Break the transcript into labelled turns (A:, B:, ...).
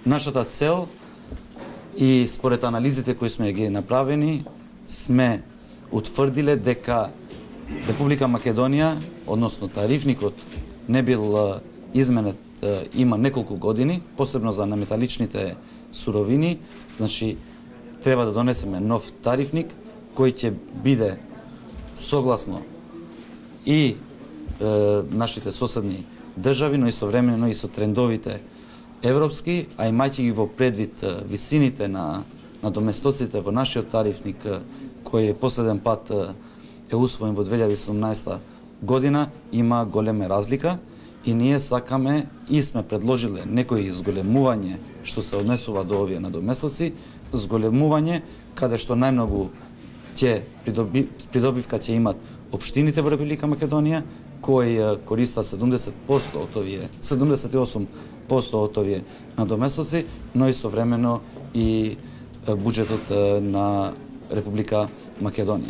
A: Нашата цел и според анализите кои сме ги направени, сме утврдиле дека Република Македонија, односно тарифникот, не бил изменет има неколку години, посебно за неметаличните суровини. Значи, треба да донесеме нов тарифник кој ќе биде согласно и нашите соседни држави, но истовремено и со трендовите европски, а имајќи ги во предвид висините на доместоците во нашиот тарифник, кој последен пат е усвоен во 2017 година, има голема разлика и ние сакаме и сме предложиле некои зголемување што се однесува до овие надоместоци, зголемување каде што најмногу ќе придобивка ќе имат општините во Република Македонија, кои користат 78% од овие надоместоци, но истовремено и буџетот на Република Македонија.